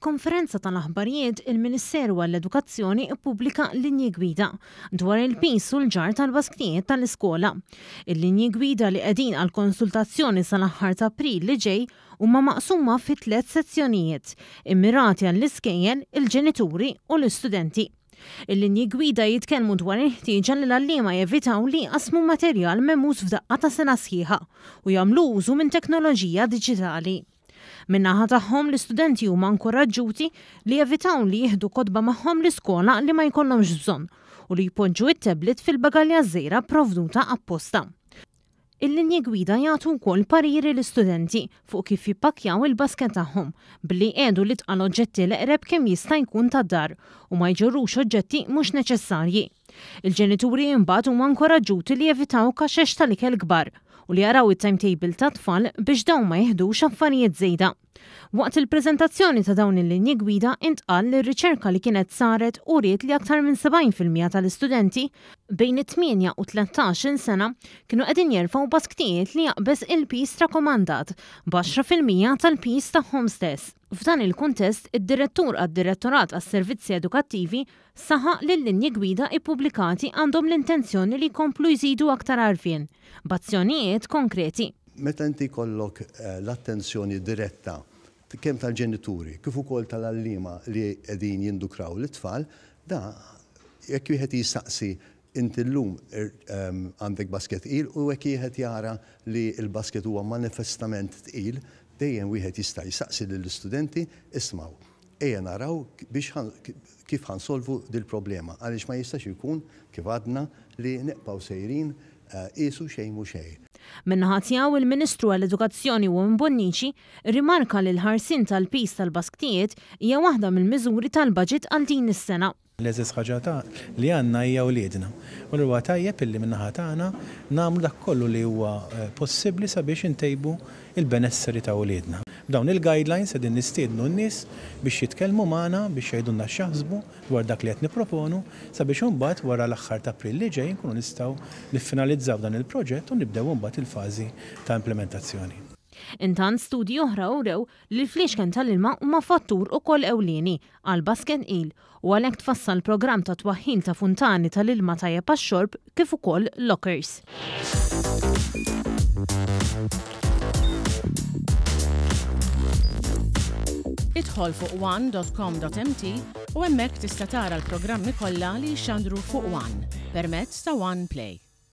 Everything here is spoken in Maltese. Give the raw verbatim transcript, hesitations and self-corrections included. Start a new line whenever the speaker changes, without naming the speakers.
F'konferenza tal-aħbarijiet, il-Ministeru għall-Edukazzjoni ppubblika linji gwida dwar il-piż u l-ġarr tal-basktijiet tal-iskola. Il-linji gwida, li qegħdin għal konsultazzjoni sal-aħħar ta' April li ġej, huma maqsuma fi tliet sezzjonijiet immirati għall-iskejjel, il-ġenituri u l-istudenti. Il-linji gwida jitkellmu dwar il-ħtieġa li l-għalliema jevitaw li jqasmu materjal memuż f'daqqa ta' sena sħiħa u jagħmlu użu minn teknoloġija diġitali. Min-naħa tagħhom, l-istudenti huma inkoraġġuti li jevitaw li jieħdu kotba magħhom l-iskola li ma jkollhomx bżonn u li jpoġġu it-tablet fil-bagalja żgħira provduta apposta. Il-linji gwida jagħtu wkoll pariri l-istudenti fuq kif jippakkjaw il-basket tagħhom, billi jqiegħdu l-itqal oġġetti l-eqreb kemm jista' jkun tad-dar u ma jġorrux oġġetti mhux neċessarji. Il-ġenituri imbagħad huma inkoraġġuti li jevitaw kaxex tal-ikel kbar u li jaraw it-timetable tat-tfal biex dawn ma jiħdux affarijiet żejda. Waqt il-preżentazzjoni ta' dawn il-linji gwida intqal li r-riċerka li kienet saret uriet li aktar minn sebgħin fil-mija tal-istudenti bejn it-tmienja u tlettax-il sena kienu qegħdin jerfgħu basktijiet li jaqbeż il-piż rakkomandat b'għaxra fil-mija tal-piż tagħhom stess. F'dan il-kuntest, id-direttur għad-Direttorat għas-Servizzi Edukattivi saħaq li l-linji gwida ippubblikati għandhom l-intenzjoni li jkomplu jżidu aktar għarfien b'azzjonijiet konkreti.
Meta inti jkollok eh, l-attenzjoni diretta kemm tal-ġenituri kif ukoll tal-għalliema li qegħdin jindukraw l-tfal, da jekk wieħed jistaqsi, "Inti llum ehm, għandek basket tqil?" u jekk wieħed jara li l-basket huwa manifestament tqil, dejjem wieħed jista' jistaqsi lill-istudenti, "Ismgħu, ejja naraw biex kif ħa nsolvu dil-problema", għaliex ma jistax ikun, kif għadna, li nibqgħu sejrin qisu xejn mhu xejn.
Min-naħa tiegħu, il-Ministru għall-Edukazzjoni Owen Bonnici rimarka li l-ħarsien tal-piż tal-basktijiet hija waħda mill-miżuri tal-budget għal din is-sena.
L-eżis ħaġa ta' li għandna hija wliedna. U huwa tajjeb illi min-naħa tagħna nagħmlu dak kollu li huwa eh, possibbli sabiex intejbu il-benesseri ta' wliedna. B'dawn il-guidelines qegħdin nistiednu n-nies biex jitkellmu magħna, biex jgħidulna x'jaħsbu dwar dak li qed nipproponu, sabiex imbagħad wara l-aħħar ta' April li ġej nkunu nistgħu niffinalizzaw dan il-proġett u nibdew imbagħad il-fażi ta' implementazzjoni.
Intant, studji oħra urew li l-fliexken tal-ilma huma fattur ukoll ewlieni għal basket tqil u għalhekk tfassal programm ta' twaħħil ta' funtani tal-ilma tajjeb għax-xorb kif ukoll lockers.
Idħol fuq one dot com dot M T u hemmhekk tista' tara l-programmi kollha li jxandru fuq One permezz ta' One Play.